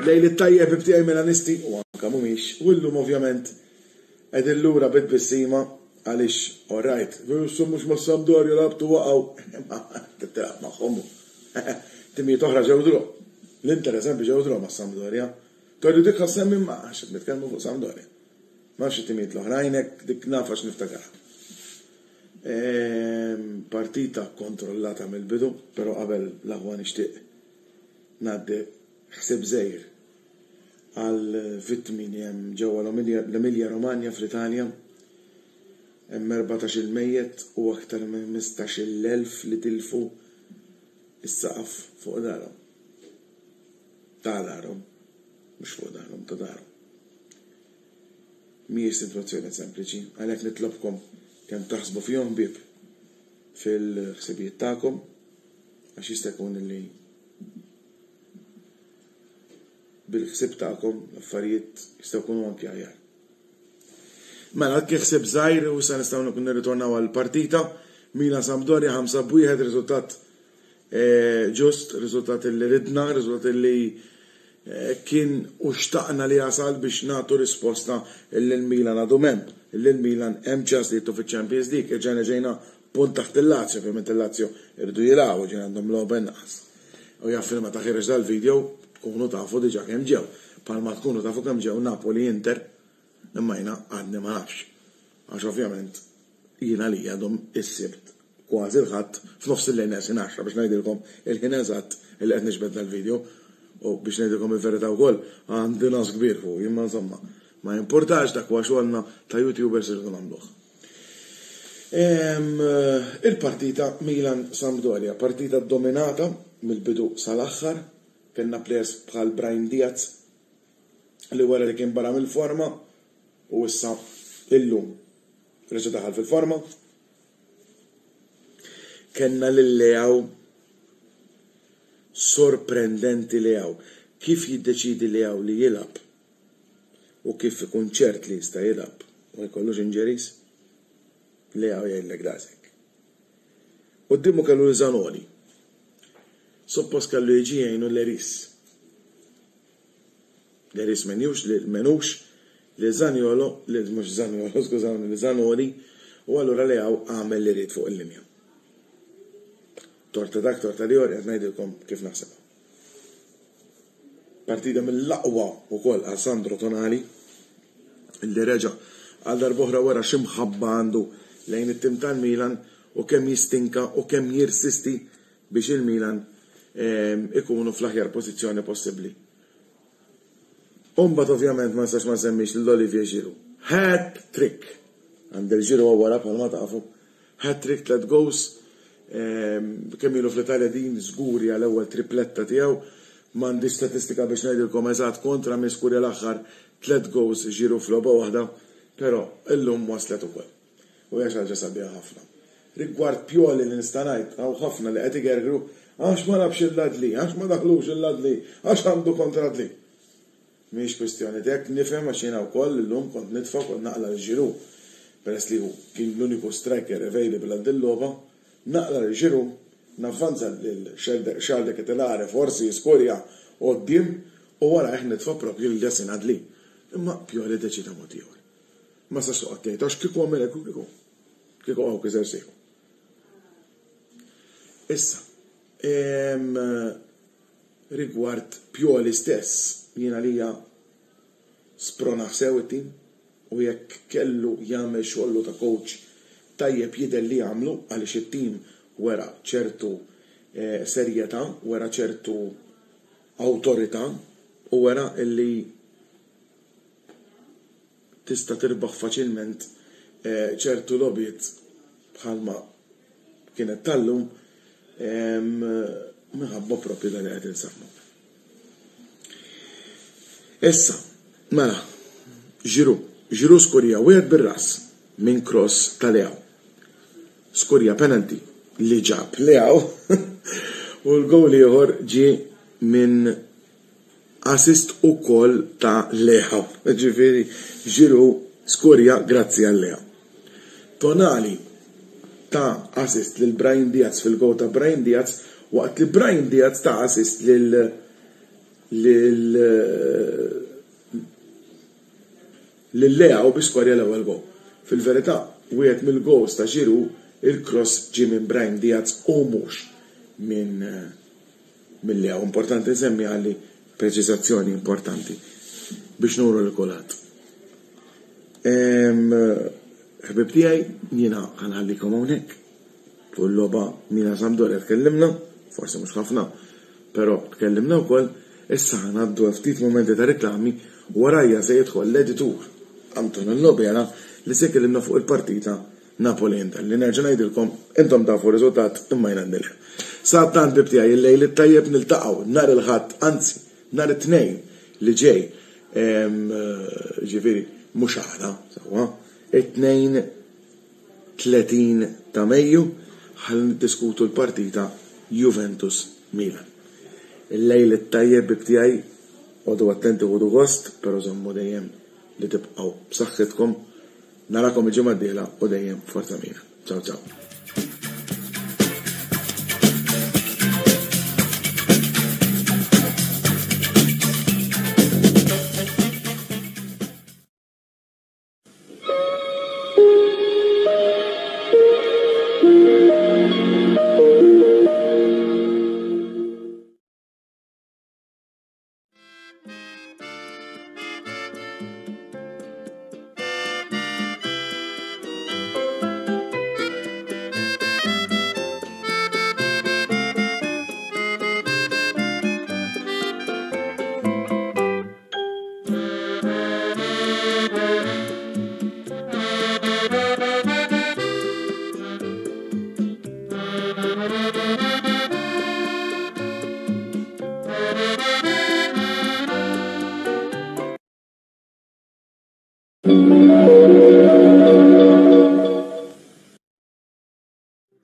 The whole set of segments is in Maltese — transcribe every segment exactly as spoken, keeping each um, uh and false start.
Lejl it-tajjeb ibtiegħi Milanisti u anke mhumiex, u llum ovvjament qegħdin lura bit-tbissima għaliex alright, issa mhux ma' Sampdoria lagħbtu waqgħu, imma tilgħab magħhom. Timijiet oħra ġew draw. L-Inter eżempju ġew draw ma' Sampdoria. Tgħidu dik ħassemmi ma għax qed nitkellmu fuq Sampdoria. Ma nafx it-timijiet l-oħrajn hekk dik naf għax niftakarha. Partita kontrollata mill-bidu, però qabel l-aħwa nixtieq ngħaddi ħsieb żgħir għal vittmi li hemm ġewwa l-Emilia Romagna fl-Italja. Hemm erbatax-il mejjet u aktar minn ħmistax-il elf li tilfu is-saqaf fuq darhom. Ta' darhom, mhux fuq darhom, ta' darhom. Mhijiex sitwazzjoni sempliċi, għalhekk nitlobkom kemm taħsbu fihom ħbieb fil-ħsibijiet tagħkom għax jista' jkun li bil-ħsieb tagħkom l-affarijiet jistgħu jkunu anki aħjar. Mela, dak ħsieb żgħir u issa nistgħu nirritornaw għall-partita. Milan Sampdoria ħamsa b'wieħed, riżultat ġust, riżultat li ridna, riżultat li kien u xtaqna li jasal biex nagħtu risposta lil Milan għadu hemm, lil Milan hemm ċans li jittu fiċ-Champions League, irġajna ġejna punt taħt il-Lazio, ovvjament il-Lazio irridu jilagħbu ġejna għandhom logħba inqas. U jaf ma taħirx dal-video tkunu tafu diġà kemm ġew. Palma tkunu tafu kemm ġew Napoli Inter, imma jiena għadni ma nafx. Għax ovvjament jiena li għadhom is-Sibt kważi l-Ħadd f'nofs il-lejl neqsin għaxra biex ngħidilkom il-ħin eżatt li qed nixbed dal-video. U biex ngħidilkom il-verità wkoll għandi nas kbir fuq, imma insomma ma jimpurtax dak huwa xogħolna ta' YouTubers irridu nagħmluh. Il-partita Milan Sampdoria, partita dominata mill-bidu sal-aħħar, kellna players bħal Brahim Diaz li wara li kien barra mill-forma u issa illum reġa' daħal fil-forma. Kellna lil Leao, sorprendenti Leao, kif jiddeċidi Leao li jilgħab u kif ikun ċert li jista' jilgħab u ma jkollux injuries, Leao jgħidlek daqshekk. Quddiemu kellu Zanoli. Suppost kellu jiġi jgħinu Leris. Leris menjux, menux, li Zaniolo, li mhux Zaniolo, skużawni, li Zanoli, u allura Leao għamel li ried fuq il-linja. Torta dak, torta li qed ngħidilkom kif naħseb. Partita mill-aqwa wkoll għal Sandro Tonali, illi reġa' għal darb'oħra wara xi mħabba għandu lejn it-tim tal-Milan u kemm jistinka u kemm jirsisti biex il-Milan ikunu fl-aħjar pożizzjoni possibbli. Umbagħad ovvjament ma nistax ma nsemmix lil Olivier Giroud. Hat-trick! Għand il-Giroud wara bħalma tafu. Hat-trick, tliet goals. Kemm ilu fl-Italja din żguri għal ewwel tripletta tiegħu. M'għandix statistika biex ngħidilkom eżatt kontra min skurja l-aħħar tliet goals Giroud f'logħba waħda, però illum waslet ukoll. U hija xi ħaġa sabiħa ħafna. Rigward Pioli li nista' ngħid hawn ħafna li qed igergru għax ma labx il-Ladli, għax ma daħlux il-Ladli, għax għandu kontra Adli. Mhix kwistjoni t'hekk, nifhem għax jiena wkoll illum kont nitfa' kont naqla' lil Giroud. Peress li hu kien l-uniku striker available għal din logħba, naqla' lil Giroud, navvanza lil Charles de Ketelare forsi jiskurja quddiem u warajh nitfa' propju lil Yacine Adli. Imma Pioli deċida mod ieħor. Ma sax toqgħod tgħid għax kieku għamel hekk u kieku. Kieku hawn kiser sieħu. Issa, rigward Pioli stess, jiena lija spronaħ sew it-tim u jekk kellu jagħmel xogħlu ta' coach tajjeb jidher li jagħmlu għaliex it-tim wera ċertu serjetà, wera ċertu awtorità u wera illi tista' tirbaħ faċilment ċertu logħbiet bħalma kienet tal-lum minħabba propju dan li qed insemmu. Issa, mela, Giroud. Giroud skorja wieħed bir-ras minn cross ta' Leao. Skorja penalty li ġab Leao u l-gowl ieħor ġie minn assist ukoll ta' Leao. Ġifieri Giroud skorja grazzi għal Leao. Tonali ta assist lil Brahim Diaz fil-gowl ta' Brahim Diaz, waqt li Brahim Diaz ta assist lil lil lil Leao biex skorja l-ewwel gowl. Fil-verità, wieħed mill-goals ta' Giroud il-cross ġie minn Brahim Diaz u mhux minn minn Leao. Importanti nsemmi għalli preċiżazzjoni importanti biex nuru lil kulħadd. Ħbib tiegħi, jiena ħa nħallikom hawnhekk. Fuq il-logħba Milan Sampdoria tkellimna, forsi mhux ħafna, però tkellimna wkoll. Issa ħa ngħaddu għal ftit momenti ta' reklami, warajja se jidħol l-editur Antonello Bela li se jkellimna fuq il-partita Napoli Inter li nerġa' ngħidilkom intom tafu r-riżultat imma jiena għandi le. Sadanittant ħbib tiegħi, il-lejl it-tajjeb, niltaqgħu nhar il-Ħadd, anzi nhar it-Tnejn li ġej, ġifieri mhux għada, sewwa, it-Tnejn tletin ta' Mejju ħalli niddiskutu l-partita Juventus Milan. Il-lejl it-tajjeb ħbib tiegħi, għodu attenti, ħudu gost, però żommu dejjem li tibqgħu b'saħħitkom. Narakom il-ġimgħa d-dieħla u dejjem Forza Milan. Ciao ciao.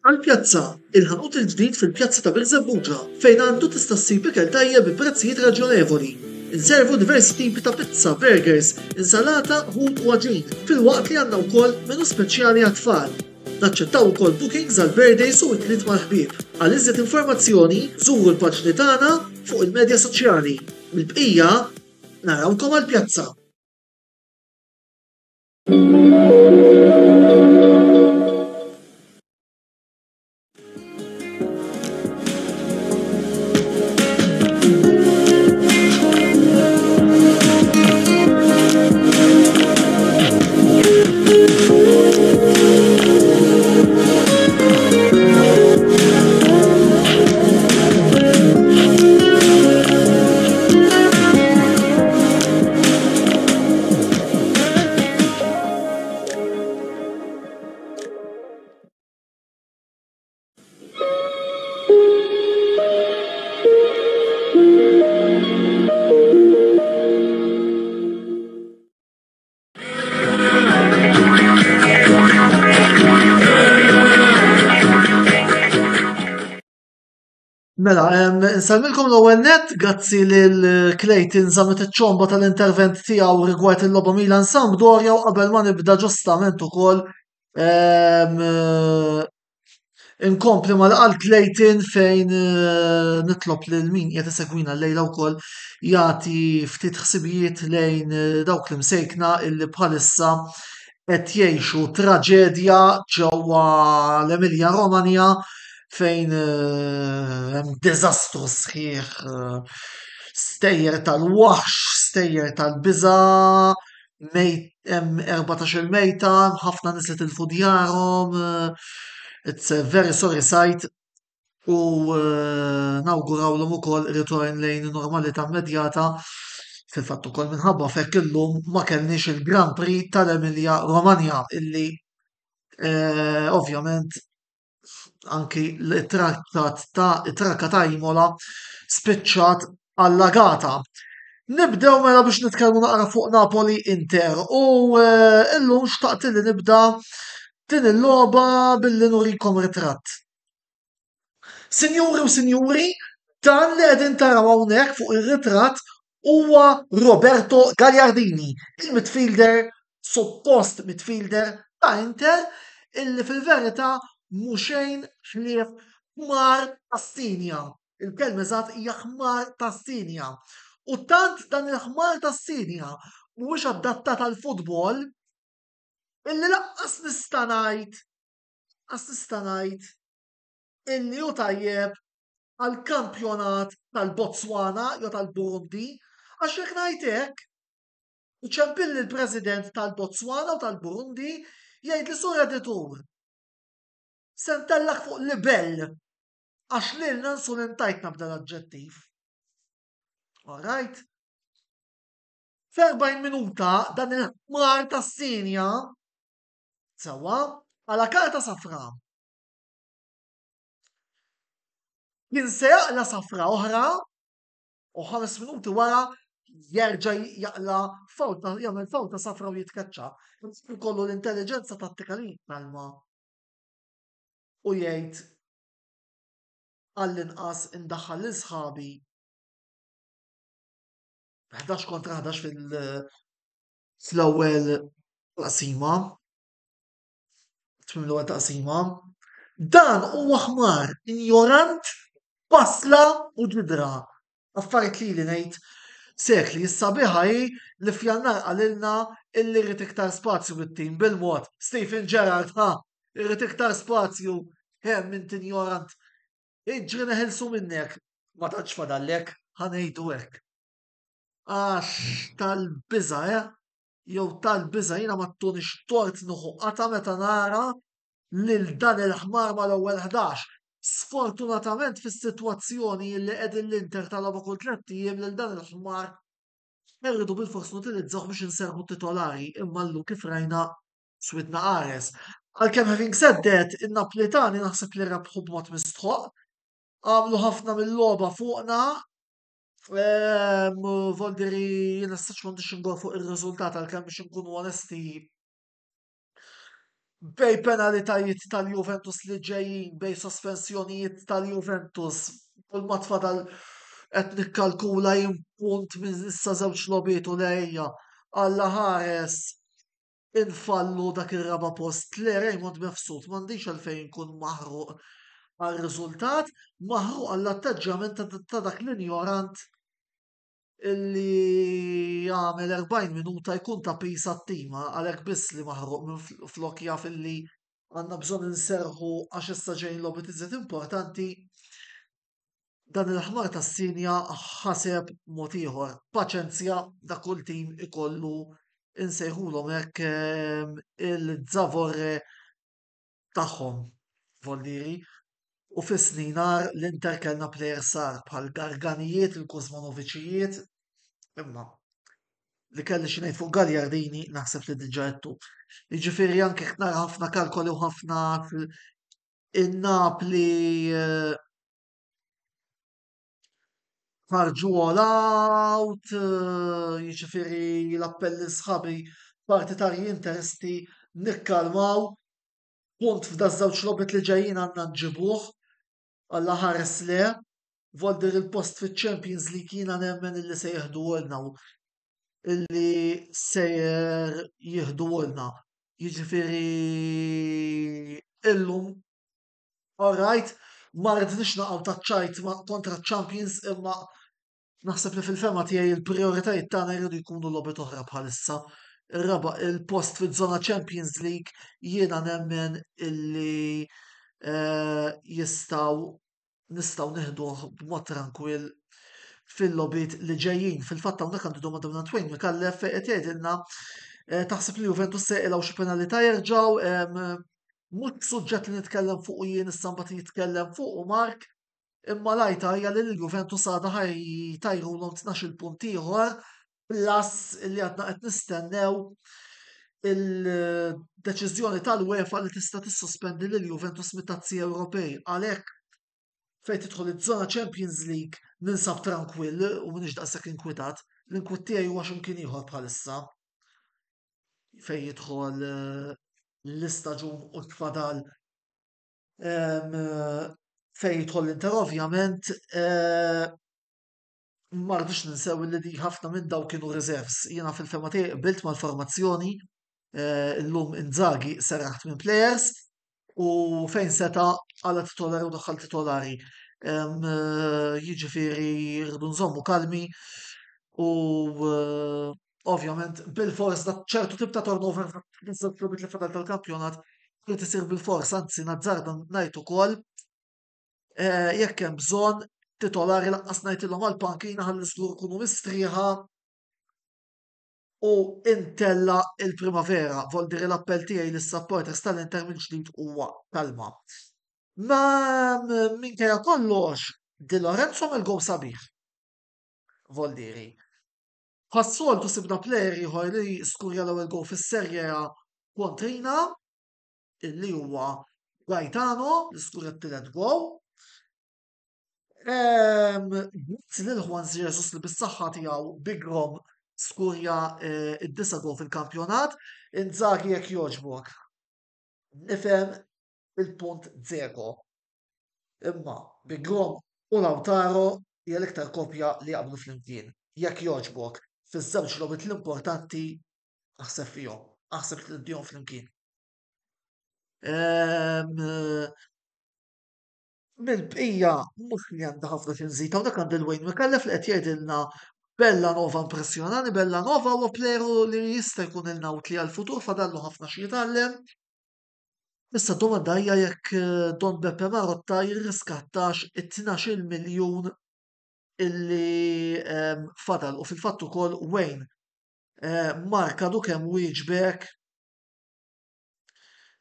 Għal-pjazza, il-ħanut il-ġdid fil-pjazza ta' Birżebbuġa, fejn għandu tista' ssib ikel tajjeb bi prezzijiet raġjonevoli. Inservu diversi tipi ta' pizza, burgers, insalata, ħut u għaġin, filwaqt li għandna wkoll menu speċjali għat-tfal. Naċċettaw ukoll bookings għal birthdays u ikliet mal-ħbieb. Għal iżjed informazzjoni, żuru l-paġni tagħna fuq il-medja soċjali. Mill-bqija, narawkom għall-pjazza. Mela, nsellmilkom l-ewwel nett, grazzi lil Clayton Zammit iċ-ċomba tal-intervent tiegħu rigward il-logħba Milan Sampdoria, u qabel ma nibda ġustament ukoll inkompli mal-qal Clayton fejn nitlob lil min qiegħed isegwina llejla wkoll jagħti ftit ħsibijiet lejn dawk l-imsejkna illi bħalissa qed jgħixu traġedja ġewwa l-Emilia Romagna fejn hemm diżastru sħiħ, stejjer tal-waħx, stejjer tal-biża', hemm erbatax-il mejta, ħafna nies li tilfu djarhom, it's a very sorry sight u nawgurawlhom ukoll ritorn lejn normalità immedjata. Fil-fatt ukoll minħabba fekk illum ma kellniex il-Grand Prix tal-Emilia Romagna illi ovvjament anki l-trakka ta' it-trakka ta' Imola spiċċat allagata. Nibdew mela biex nitkellmu naqra fuq Napoli Inter u eh, illum xtaqt li nibda din il-logħba billi nurikom ritratt. Sinjuri u sinjuri, dan li qegħdin taraw hawnhekk fuq ir-ritratt huwa Roberto Gagliardini, il-midfielder, suppost midfielder ta' Inter, illi fil-verità mhu xejn ħlief ħmar tas-sinja. Il-kelma eżatt hija ħmar tas-sinja. U tant dan il-ħmar tas-sinja mhuwiex adattat għall-futbol illi laqqas nista' ngħid laqqas nista' ngħid illi hu tajjeb għall-kampjonat tal-Botswana jew tal-Burundi, għax jekk ngħid hekk, iċempilli l-President tal-Botswana u tal-Burundi jgħidli sur editur, se ntellgħek fuq libell għax lilna nsulentajtna b'dal-aġġettiv. All right? F'erbgħin minuta dan il-ħmar tas-sinja sewwa għala karta safra. Kien se jaqla safra oħra u ħames minuti wara jerġa' jaqla fawta, jagħmel fawta safra u jitkeċċa. Ikollu l-intelligenza tattika li jitkalma u jgħid għall-inqas indaħħal lil sħabi ħdax kontra ħdax fil-ewwel taqsima. Tmiem l-ewwel taqsima. Dan huwa ħmar, injorant, basla u ġidra. Affarijiet li li ngħid sekli. Is-sabiħa hi li f'Jannar qalilna illi rrid iktar spazju bit-tim bil-mod. Steven Gerrard, ha, irrid iktar spazju. Hemm int injorant. Iġri neħilsu minnek. Ma tantx fadallek, ħa ngħidu hekk. Għax tal-biża', eh? Jew tal-biża' jiena ma ttunix tort nieħu qata' meta nara lil dan il-ħmar mal-ewwel ħdax. Sfortunatament fis-sitwazzjoni li qegħdin l-Inter talaba kull tlett ijiem lil dan il-ħmar irridu bilfors nutilizzawh biex inserħu titolari, imma llum kif rajna swidna qares. Għalkemm having said that, in-Naplitani naħseb li rebħu b'mod mistħoq, għamlu ħafna mill-logħba fuqna. Voldiri jiena s-saċ m'għandix ingol fuq ir-riżultat għalkemm biex inkunu onesti bej penalitajiet tal-Juventus li ġejjin, bej sospensjonijiet tal-Juventus, kull ma tfadal qed nikkalkula jien punt minn issa żewġ logħbiet u lejja. Alla ħares infallu dak ir-raba' post. Le Raymond Mifsud, m'għandix għalfejn inkun maħruq għar-riżultat, maħruq għall-atteġġjament ta' dak l-injorant illi jagħmel erbgħin minuta jkun ta' piż għat-tim, għalhekk biss li maħruq minn flok jaf illi għandna bżonn inserħu għax issa ġejjin logħbiet iżjed importanti. Dan il-ħmar tas-sinja ħaseb mod ieħor. Paċenzja, da kull tim ikollu insejħulhom hekk il-żavorre tagħhom, voldiri. U fis-snin għar l-Inter kellna plejers sar bħal Garganijiet, il-Kuzmanoviċijiet, imma li kelli xi ngħid fuq Gagliardini naħseb li diġà għedtu. Jiġifieri anke jekk nara ħafna kalkoli u ħafna in-Napli eh, ħarġu all out, eh, jiġifieri l-appell lil sħabi partitarji interisti nikkalmaw, punt f'da żewġ logħbiet li ġejjin għandna nġibuh, Alla ħares le, voldir il-post fiċ-Champions League jiena nemmen illi se jieħduhulna u illi sejjer jieħduhulna. Jiġifieri illum all right, ma rridniex naqgħu taċ-ċajt kontra ċ-Champions imma naħseb li fil-fema tiegħi il-prijoritajiet tagħna jridu jkunu logħbiet oħra bħalissa. Ir-raba' il-post fiż-żona Champions League jiena nemmen illi eh, jistgħu nistgħu nieħduh b'mod trankwill fil-logħbiet li ġejjin. Fil-fatt hawnhekk għandu domanda minn Wayne Micallef fejn qed jgħidilna eh, taħseb li Juventus se jqilgħu xi penalità jerġgħu mhux suġġett li nitkellem fuq jien issa mbagħad jitkellem fuq u Mark, imma lajta hija li l-Juventus għadha ħajtajrulhom tnax-il punt ieħor plus li għadna qed nistennew il-deċiżjoni tal-UEFA li tista' tissospendi lil Juventus mit-tazzi Ewropej. Għalhekk fejn tidħol iż-żona Champions League ninsab trankwill u m'iniex daqshekk inkwitat. L-inkwiet tiegħi huwa x'imkien ieħor bħalissa fejn jidħol eh, l-istaġun u tfadal fejn jidħol l-Inter. Ovvjament eh, ma rridux ninsew li di ħafna minn daw kienu reserves. Jiena fil-fehma tiegħi qbilt mal-formazzjoni eh, illum. Inzaghi serraħ minn players u fejn seta għala titolari u daħħal titolari. Eh, jiġifieri rridu nżommu kalmi u ovvjament bil-fors da ċertu tip ta' turnover fil-logħbiet li fadal tal-kampjonat trid isir bil-fors, anzi nazzarda ngħid ukoll eh, jekk hemm bżonn titolari lanqas ngħidilhom għall-pankina, ħalli żgur ikunu mistrieħa u intella il-primavera. Voldiri l-appell tiegħi lis-supporters tal-Inter mill-ġdid huwa kalma. Ma minkejja kollox, Di Lorenzo mill-gow sabiħ. Voldiri. Bħas-soltu sibna player ieħor li skurja l-ewwel gow fis-Serie A kontrina, illi huwa Gaetano li skurja t-tielet gow. Grazzi lil Juan Jesus li bis-saħħa tiegħu Big Rom skurja eh, id-disa' gow fil-kampjonat. Inzaghi, jekk jogħġbok. Nifhem il-punt Dzeko. Imma Big Rom u Lautaro hija l-iktar kopja li jaqblu flimkien. Jekk jogħġbok, fiż-żewġ logħbiet l-importanti aħseb fihom, aħseb li tiddihom flimkien. Ehm, Mill-bqija mhux li għandha ħafna xi nżid, hawnhekk għandi l-Wayne Micallef li qed jgħidilna Bellanova impressjonani. Bellanova huwa player li jista' jkun ilna utli għal-futur, fadallu ħafna xi jitgħallem. Issa domanda hija jekk eh, Don Beppe Marotta jirriskattax it-tnax-il miljun illi ehm, fadal. U fil-fatt ukoll Wayne, eh, Mark għadu kemm wieġbek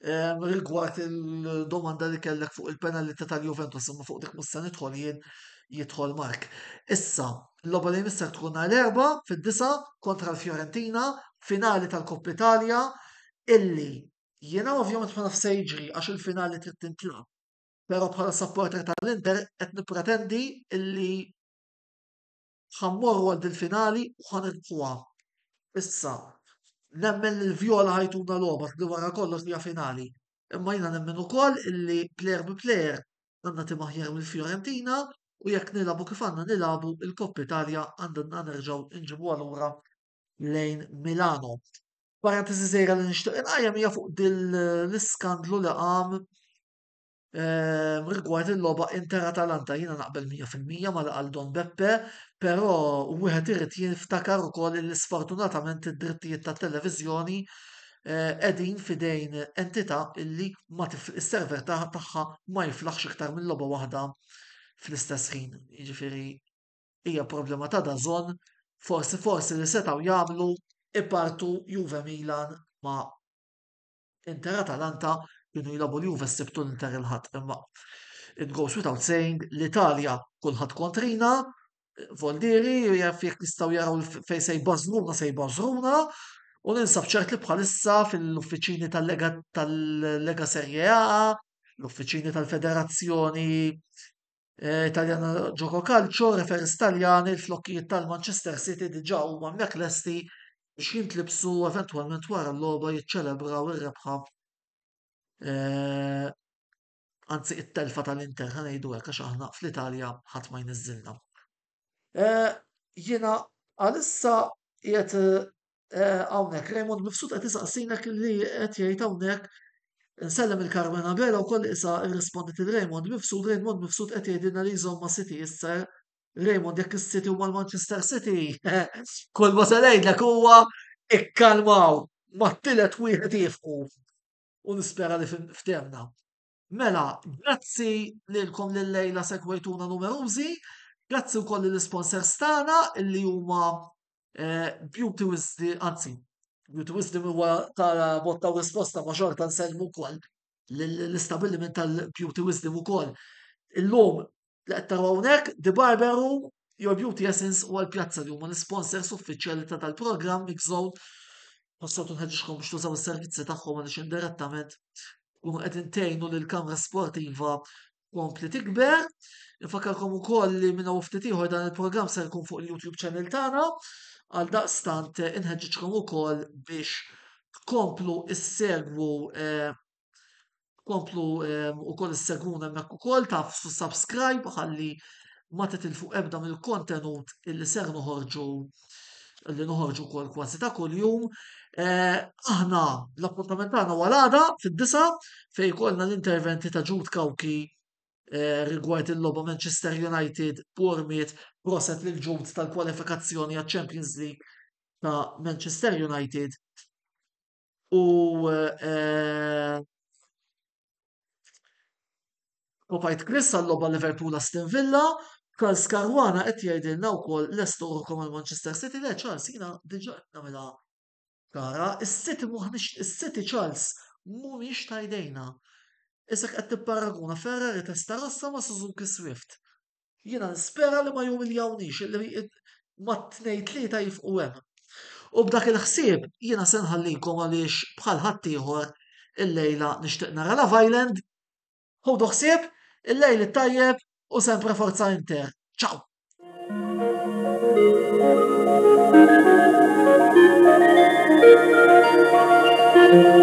ehm, rigward il-domanda li kellek fuq il-penalità tal-Juventus, imma fuq dik mhux se nidħol jien, jidħol Mark. Issa, l-logħba li jmiss tkun nhar l-Erbgħa fid-disgħa kontra l-Fiorentina, finali tal-Coppa Italia, illi jiena ovvjament ma naf se jiġri għax il-finali trid tintlagħab. Però bħala supporter tal-Inter qed nippretendi illi ħa mmorru għal dil-finali u ħa nirbħuha. Issa, nemmen li l-Viola ħa jtuna logħba li wara kollox hija finali. Imma jiena nemmen ukoll illi player bi player għandna tim aħjar mill-Fiorentina u jekk nilagħbu kif għandna nilagħbu, il-Coppa Italia għandna nerġgħu nġibuha lura lejn Milano. Parentesi żgħira li nixtieq inqajjem hija fuq dil l-iskandlu li qam ehm, rigward il-logħba Inter Atalanta. Jiena naqbel mija fil-mija ma li qal Don Beppe, però wieħed irid jiftakar ukoll li sfortunatament id-drittijiet tat-televiżjoni eh, qegħdin fidejn entità illi ma is-server tagħha ma jiflaħx iktar minn logħba waħda fl-istess ħin. Jiġifieri hija problema ta' D A Z N, forsi forsi li setgħu jagħmlu ipartu Juve Milan ma' Inter Atalanta, kienu jilagħbu l-Juve s-Sibt u l-Inter il-Ħadd. Imma it goes without saying, l-Italja kulħadd kontrina, voldiri, jaf jekk jistgħu jaraw fejn se jbażruna, se jbażruna, u ninsab ċert li bħalissa fil-uffiċini tal-Lega tal-Lega Serie A, l-uffiċini tal-Federazzjoni eh, Italjana Gioco Calcio, referees Taljani, il-flokkijiet tal-Manchester City diġà huma hemmhekk lesti biex jintlibsu eventwalment wara l-logħba jiċċelebraw ir-rebħa, eh, anzi it-telfa tal-Inter, ħa ngħidu hekk, għax aħna fl-Italja ħadd ma jniżżilna. Eh, jiena għalissa qiegħed eh, hawnhekk Raymond Mifsud qed isaqsinek li qed jgħid hawnhekk. Nsellem il-Carmen Abela wkoll, issa irrispondit il-Raymond Mifsud. Raymond Mifsud qed jgħidilna li jżomm ma' City issa. Raymond, jekk is-City huma l-Manchester City, kull ma se ngħidlek huwa ikkalmaw, mat-tielet wieħed jifqu u nispera li ftehemna. Mela, grazzi lilkom li llejla segwejtuna numerużi, grazzi wkoll lill-sponsors tagħna illi huma eh, Beauty Wisdom, anzi, Beauty Wisdom huwa ta' botta u risposta, ma xorta nsellmu wkoll l-istabbiliment tal-Beauty Wisdom ukoll. Illum li qed taraw hawnhekk, The Barber Room, Your Beauty Essence u għal-pjazza li huma l-sponsors uffiċjali ta' tal-programm Mixzone. Bħas-soltu nħeġġiġkom biex tużaw is-servizzi tagħhom għaliex indirettament tkunu qegħdin tgħinu lil kamra sportiva kompli tikber. Infakkarkom ukoll li minn hawn ftit ieħor dan il-programm se jkun fuq il-YouTube channel tagħna. Għaldaqstant inħeġġiġkom ukoll biex tkomplu issegwu tkomplu ukoll issegwuna hemmhekk ukoll, tagħfsu subscribe ħalli ma titilfu ebda mill-kontenut illi ser noħorġu li noħorġu wkoll kważi ta' kuljum. Aħna l-appuntament tagħna huwa l-għada fid-disgħa fejn ikollna l-interventi ta' Jude Cauchi rigward il-logħba Manchester United Bournemouth. Proset lil Jude tal-kwalifikazzjoni għaċ-Champions League ta' Manchester United u Kopajt Chris għal-logħba Liverpool Aston Villa. Charles Caruana qed jgħidilna wkoll lestu ruħkom għal Manchester City. Le Charles, jiena diġà qed nagħmilha ċara. Is-City m'aħniex is-City, Charles, mhumiex ta' jdejna. Isek qed tipparaguna Ferrari Testarossa ma' Suzuki Swift. Jiena nispera li ma jumiljawniex, li ma tnejn tlieta jifqu hemm. U b'dak il-ħsieb jiena se nħallikom għaliex bħal ħaddieħor illejla nixtieq nara Love Island. Ħudu ħsieb, il-lejl it-tajjeb u sempre Forza Inter. Ciao! Thank you.